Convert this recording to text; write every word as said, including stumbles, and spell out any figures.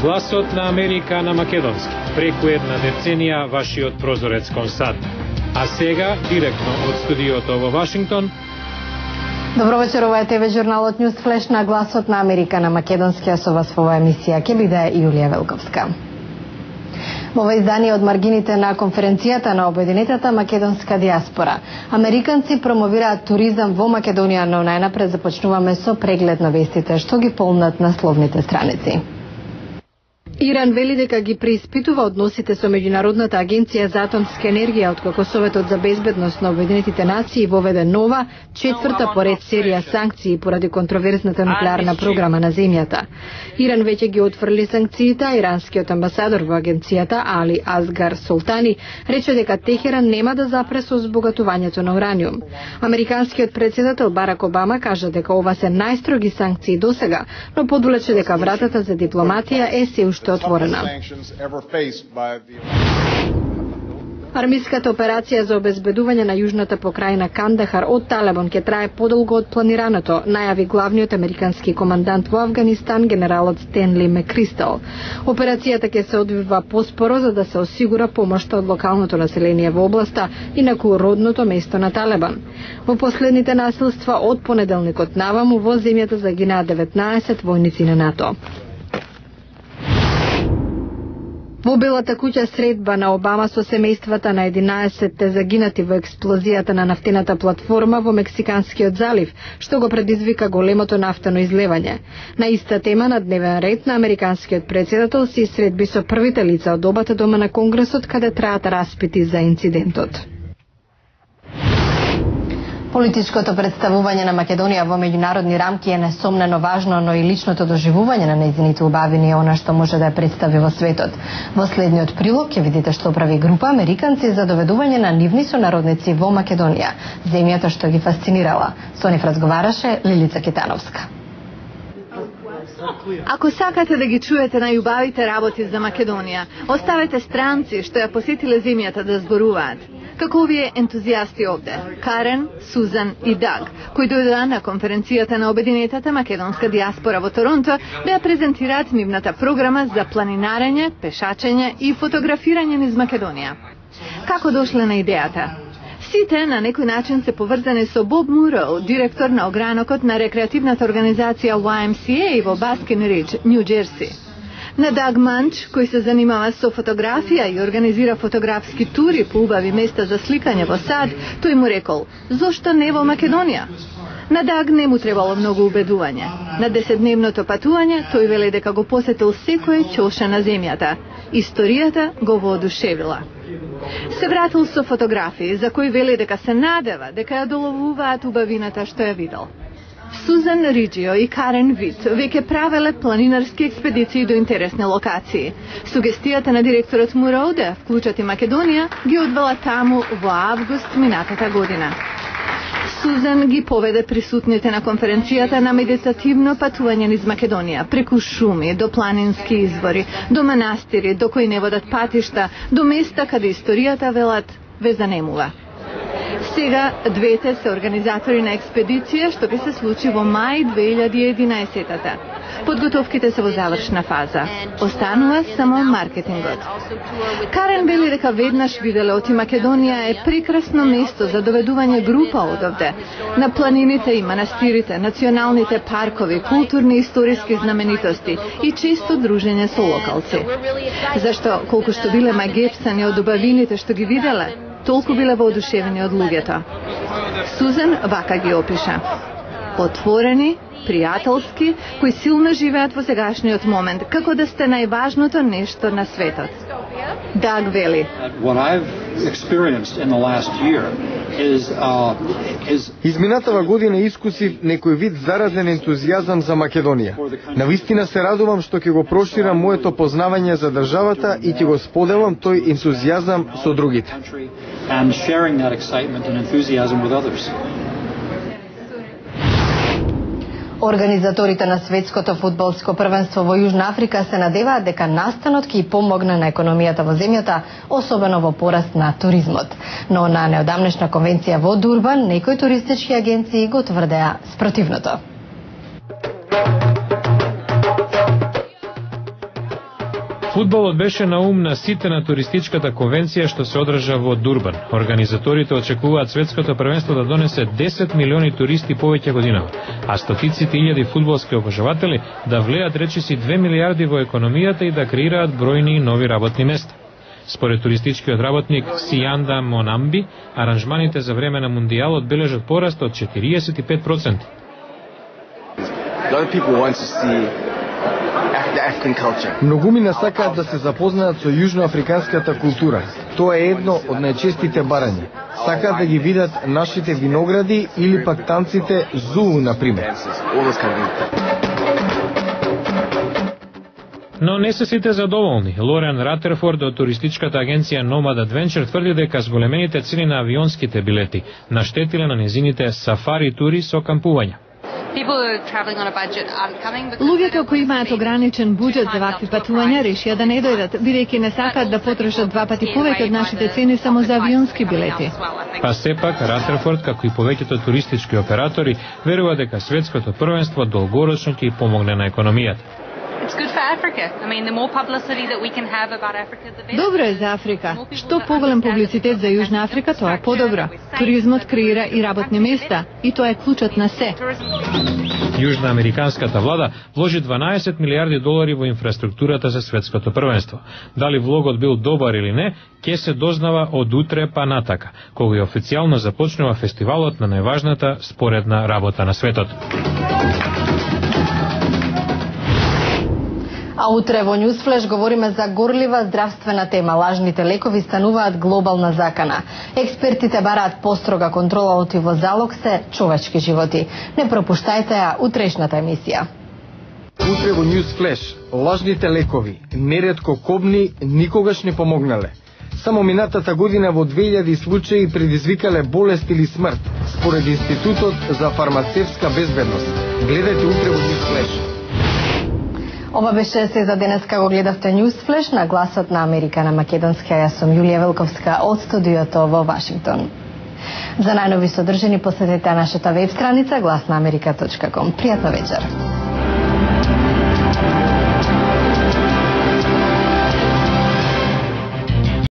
Гласот на Америка на македонски. Преку една деценија вашиот прозорец кон САД. А сега, директно од студиото во Вашингтон. Добро вечер, ова е ТВ журналот News Flash на Гласот на Америка на македонски, а со вас во оваа емисија ќе биде Јулија Велковска. Во ова издание од маргините на конференцијата на Обединетата македонска диаспора. Американци промовираат туризам во Македонија, но најнапред започнуваме со преглед на вестите што ги полнат насловните страници. Иран вели дека ги преиспитува односите со Меѓународната агенција за атомска енергија откако Советот за безбедност на Обединетите нации воведе нова, четврта поред серија санкции поради контроверзната нуклеарна програма на земјата. Иран веќе ги отфрли санкциите, а иранскиот амбасадор во агенцијата Али Азгар Солтани рече дека Техеран нема да запре со збогатувањето на ураниум. Американскиот председател Барак Обама кажа дека ова се најстроги санкции досега, но подвлече дека вратата за дипломатија е се уште отворена. Армиската операција за обезбедување на јужната покрајна Кандахар од Талебан ќе трае подолго од планираното, најави главниот американски командант во Авганистан генералот Стенли Мекристал. Операцијата ќе се одвива поспоро за да се осигура помошта од локалното население во областа, инаку родното место на Талебан. Во последните насилства од понеделникот наваму во земјата загинаа деветнаесет војници на НАТО. Во Белата куќа средба на Обама со семејствата на единаесетте загинати во експлозијата на нафтената платформа во Мексиканскиот залив, што го предизвика големото нафтено излевање. На иста тема на дневен ред на американскиот председател се средби со првите лица од обата дома на Конгресот каде траат распити за инцидентот. Политичкото представување на Македонија во меѓународни рамки е несомнено важно, но и личното доживување на нејзините убавини е она што може да ја представи во светот. Во следниот прилог ќе видите што прави група американци за доведување на нивни сонародници во Македонија, земјата што ги фасцинирала. Со нив разговараше Лилица Кетановска. Ако сакате да ги чуете најубавите работи за Македонија, оставете странци што ја посетиле земјата да зборуваат. Како овие ентузијасти овде, Карен, Сузан и Даг, кои дојдоа на конференцијата на Обединетата македонска диаспора во Торонто, да ја презентираат нивната програма за планинарење, пешачење и фотографирање низ Македонија. Како дошле на идејата? Сите на некој начин се поврзани со Боб Муро, директор на огранокот на рекреативната организација Y M C A во Баскин Ридж, Нью Джерси. На Даг Манч, кој се занимава со фотографија и организира фотографски тури по убави места за сликање во САД, тој му рекол: "Зошто не во Македонија?" На Даг не му требало многу убедување. На десетдневното патување тој веле дека го посетил секој ќоша на земјата. Историјата го воодушевила. Се вратил со фотографии за кои веле дека се надева дека ја доловуваат убавината што ја видел. Сузан Риджио и Карен Вит веќе правеле планинарски експедиции до интересни локации. Сугестијата на директорот Муро да вклучат и Македонија ги одвела таму во август минатата година. Сузан ги поведе присутните на конференцијата на медитативно патување низ Македонија, преку шуми, до планински извори, до манастири, до кои не водат патишта, до места каде историјата, велат, ве занемува. Сега двете се организатори на експедиција што би се случи во мај две илјади и единаесетта. Подготовките се во завршна фаза. Останува само маркетингот. Карен вели дека веднаш виделе оти Македонија е прекрасно место за доведување група одовде. На планините и манастирите, националните паркови, културни и историски знаменитости и често дружење со локалци. Зашто колку што биле магепсани од убавините што ги виделе, толку биле воодушевени од луѓето. Сузан вака ги опиша: отворени, пријателски, кои силно живеат во сегашниот момент, како да сте најважното нешто на светот. Даг вели: Изминатава година искусив некој вид заразен ентузијазам за Македонија. Навистина се радувам што ќе го проширам моето познавање за државата и ќе го споделам тој ентузијазам со другите. Организаторите на светското фудбалско првенство во Јужна Африка се надеваат дека настанот ќе помогне на економијата во земјата, особено во пораст на туризмот. Но на неодамнешна конвенција во Дурбан, некои туристички агенции го тврдеа спротивното. Фудбалот беше на ум на сите на туристичката конвенција што се одржа во Дурбан. Организаторите очекуваат светското првенство да донесе десет милиони туристи повеќе годинава, а стотиците илјади фудбалски обожаватели да влеат речиси две милиарди во економијата и да креираат бројни нови работни места. Според туристичкиот работник Сијанда Монамби, аранжманите за време на мундијалот бележат пораст од четириесет и пет проценти. Многумина сакаат да се запознаат со јужноафриканската култура. Тоа е едно од најчестите барања. Сакаат да ги видат нашите виногради или пак танците зуу, например. Но не се сите задоволни. Лорен Ратерфорд од туристичката агенција Nomad Adventure тврди дека зголемените цени на авионските билети наштетиле на незините сафари тури со кампување. Луѓето кои имаат ограничен буџет за вакви патувања решија да не дојдат, бидејќи не сакаат да потрошат два пати повеќе од нашите цени само за авионски билети. Па сепак Ратерфорд, како и повеќето туристички оператори, верува дека светското првенство долгорочно ќе помогне на економијата. Добро е за Африка. Што поголем публицитет за Јужна Африка, тоа е подобро. Туризмот креира и работни места, и тоа е клучот на се. Јужноамериканската влада вложи дванаесет милиарди долари во инфраструктурата за светското првенство. Дали влогот бил добар или не, ќе се дознава од утре па натака, кога и официјално започнува фестивалот на најважната споредна работа на светот. А утре во Newsflash говориме за горлива здравствена тема. Лажните лекови стануваат глобална закана. Експертите бараат построга контрола, оти во залог се човечки животи. Не пропуштајте ја утрешната емисија. Утре во Newsflash, лажните лекови, неретко кобни, никогаш не помогнале. Само минатата година во две илјади случаи предизвикале болест или смрт, според Институтот за фармацевска безбедност. Гледајте утре во Newsflash. Ова беше се за денес, како гледавте Newsflash на Гласот на Америка на македонски. Јас сум Јулија Велковска од студиото во Вашингтон. За најнови содржини посетете нашата веб страница глас на америка точка ком. Пријатна вечер.